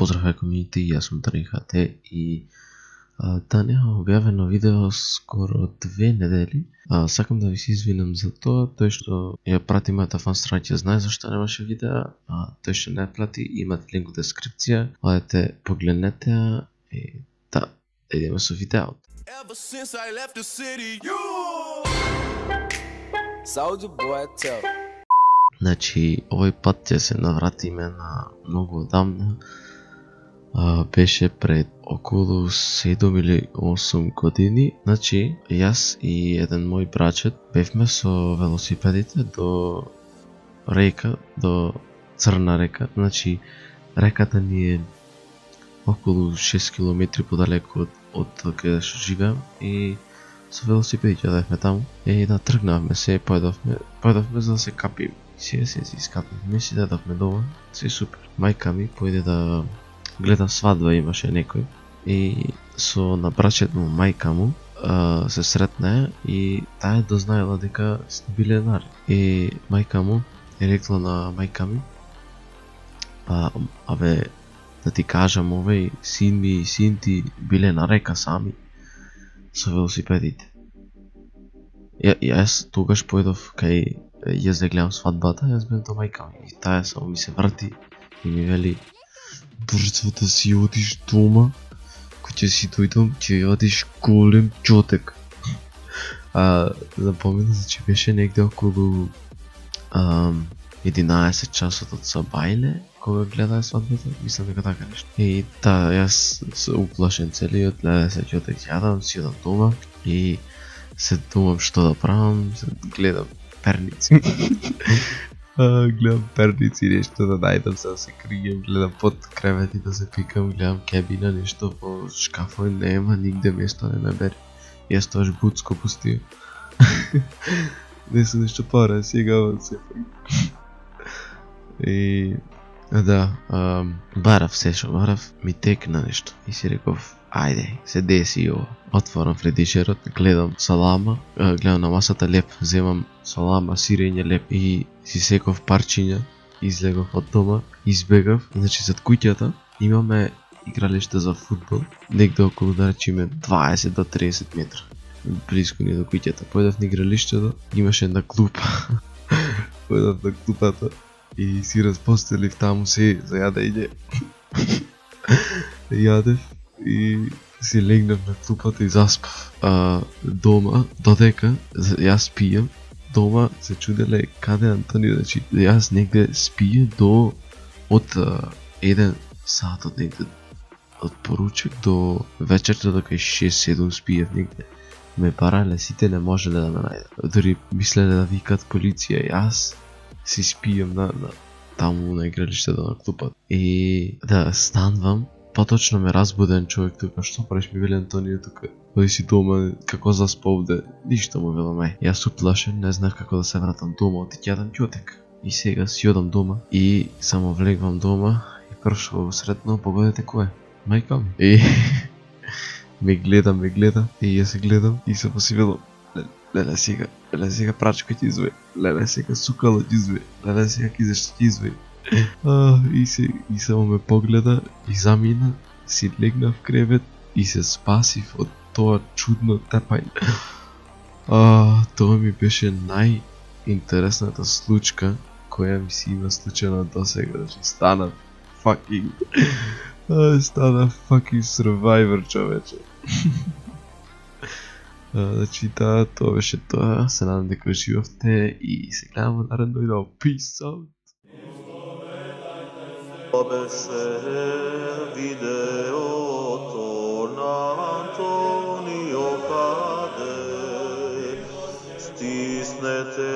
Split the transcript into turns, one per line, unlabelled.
Поздрав е комјунити, јас сум Тренхате и нема објавено видео скоро 2 недели. Сакам да ви се извинам за тоа, тој што ја прати мојата фан страница знае зашто немаше видео, тој што не прати имате линк во дескрипција, одете погледнете ја и да, идеме со видеото.
Ever since I left the city,
Soulja Boy tell.
Значи, овој пат ќе се навратиме на многу одамна. Беше пред околу 7 или 8 години. Значи, јас и еден мој брачет бевме со велосипедите до река, до Црна река. Значи, реката ни е околу 6 км подалеку од каде што живеам и со велосипедите одевме таму. И да тргнавме се, појдовме за да се капиме. Се искапивме, си дадовме дома, се супер. Мајка ми појде да гледа свадба, имаше некој и со набрачет му мајка му се сретна и таа дознаела дека сте биленари. И мајка му е рекла на мајка ми: абе, да ти кажам, овој син ми и син ти биле на река сами со велосипедите. Јас тогаш појдов кај јас да гледам свадбата, јас бев до мајка ми и таа само ми се врти и ми вели: брзо да си одиш дома, кој ќе си дојдам, ќе одиш голем чотек. Напомена, че беше негде околу 11 часот од Сабајле, кога гледаа свадбата, мислам дека така нешто. И јас се уплашен целиот, гледа се чотек, јадам, си одам дома и се думам што да правам, гледам перници. Гледам перници, нешто да најдам, се да се кријам, гледам под кревети да се пикам, гледам кебина, нешто по шкафој, нема нигде место не ме бери. Јас тоаш буцко пустија. Не се нешто пора, сега се и да, барав се шо барав, ми текна нешто и си реков: ајде, се деси ова. Отворам фридишерот, гледам салама, гледам на масата леп, земам салама, сирење, леп и си секов парчиња, излегов од дома, избегав. Значи, зад куќата имаме игралиште за фудбал, негде околу, да речеме, 20 до 30 метра. Близко ни до куќата. Појдав на игралиштето, имаше една клупа. Појдав на клупата и си разпостелив таму се за јадење. Јадев и си легнав на клупата и заспав. Дома, додека јас пијам, дома се чуделе каде Антонио, значи јас негде спијам до од 1 сат од негде од поручек до вечерта, до кај 6-7 спијав негде. Ме барале, сите не можеле да ме најдат. Дори мислеле да викат полиција, јас си спијам на таму на игралиштето на клупата. И да станвам, поточно ме разбуден човек тука: што правиш, ми вели Антонио тука, оди си дома, како заспа овде, ништо му велам. Јас уплашен, не знах како да се вратам дома, оти ќе јадам ќотек. И сега си одам дома и само влегвам дома и прво што го сретно, погодете кој е? Мајка ми. И ме гледа и јас се гледам и само си велам: леле сега прачка ќе изве, леле сега сукало ќе изве, леле сега ќе зашто ќе изве. И само ме погледа и замина, си легна в кревет и се спасив од тоа чудно тепање. Тоа ми беше најинтересната случка која ми си има случена досега. Значи, стана fucking survivor, човече. Значи, тоа беше тоа. Се надам дека уживавте и се гледаме наредно видео. Peace out!
Беше видеото на Антонио Каде, стиснете